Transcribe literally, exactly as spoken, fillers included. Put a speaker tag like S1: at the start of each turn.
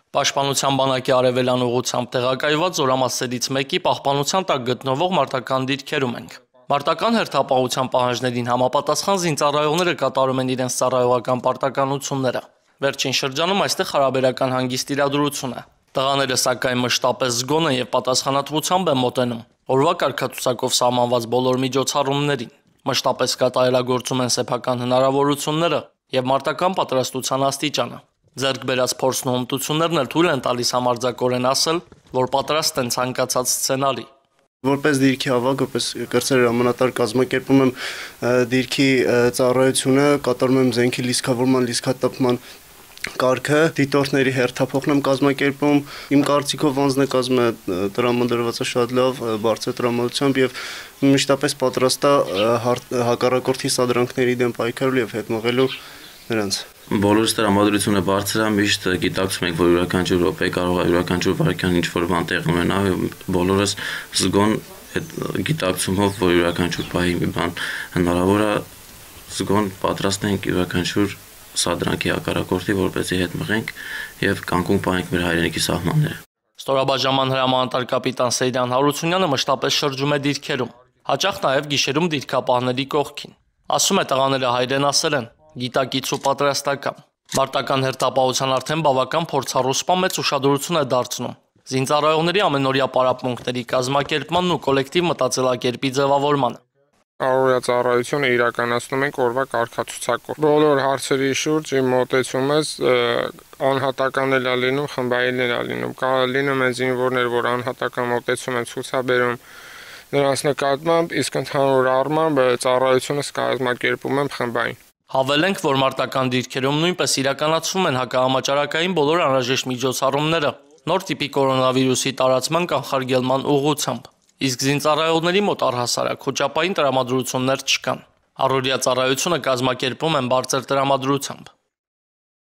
S1: Պաշտպանության բանակի արևելյան ուղղությամբ տեղակայված զորամասերից մեկի պահպանության տակ գտնվող մարտական դիրքերում ենք։ Մարտական հերթապահության պահանջներին համապատասխան զինծառայողները կատարում են իրենց ծառայողական պարտականությունները։ Վերջին շրջանում այստեղ հարաբերական հանգիստ իրադրություն է։ Տղաները սակայն մշտապես զգոն են եւ պատասխանատվությամբ են մոտենում օրվա կարգացուցակով սահմանված բոլոր միջոցառումներին, մշտապես կատարելագործում են սեփական հնարավորությունները եւ մարտական պատրաստության աստիճանը։ Ձեռք բերած փորձն ու հմտություններն էլ թույլ են տալիս համարձակորեն ասել, որ պատրաստ են ցանկացած սցենարի։
S2: Որպես դիրքի ավագ, որպես կրտսեր հրամանատար կազմակերպում եմ դիրքի ծառայությունը, կատարում եմ զենքի լիցքավորման, լիցքատպման կարգը, դիտորդների հերթափոխն եմ կազմակերպում, իմ կարծիքով անձնակազմը տրամադրված է շատ լավ, բարձր տրամադրությամբ եւ մշտապես պատրաստ է հակառակորդի սադրանքների դեմ պայքարելու եւ հետմղելու նրանց։
S3: Բոլորս տրամադրությունը բարձր է, միշտ գիտակցում ենք, որ յուրաքանչյուր րոպե կարող է յուրաքանչյուր վայրկյան ինչ-որ բան տեղի ունենա, բոլորս զգոն այդ գիտակցումով, որ յուրաքանչյուր պահի մի բան հնարավոր է, զգոն պատրաստ ենք յուրաքանչյուր սադրանքի հակառակորդի, որպեսզի հետ մղենք եւ կանգուն պահենք մեր հայրենիքի սահմանները։
S1: Ստորաբաժանման հրամանատար կապիտան Սեյրան Հարությունյանը մշտապես շրջում է դիրքերում, հաճախ նաեւ գիշերում դիրքապահների կողքին։ Ասում է տղաները հայրենասեր են, գիտակից ու պատրաստական։ Մարտական հերթապահության արդեն բավական փորձառու սպա մեծ ուշադրություն է դարձնում զինծառայողների ամենօրյա պարապմունքների կազմակերպմանն ու կոլեկտիվ մտածելակերպի ձևավորմանը։
S4: Առօրյա ծառայությունը իրականացնում ենք օրվա կարգացուցակով։ Բոլոր հարցերի շուրջ իմ մոտեցումս անհատական էլ է լինում, խմբային էլ է լինում։ Կարող լինում են զինվորներ, որ անհատական մոտեցում են ցուցաբերում նրանց նկատմամբ, իսկ ընդհանուր առմամբ ծառայությունս կազմակերպում եմ խմբային։
S1: Հավելենք, որ մարտական դիրքերում նույնպես իրականացվում են հակահամաճարակային բոլոր անհրաժեշտ միջոցառումները նոր տիպի կորոնավիրուսի տարածման կանխարգելման ուղղությամբ, իսկ զինծառայողների մոտ առհասարակ խոճապային տրամադրություններ չկան։ Առօրյա ծառայությունը կազմակերպում են բարձր տրամադրությամբ։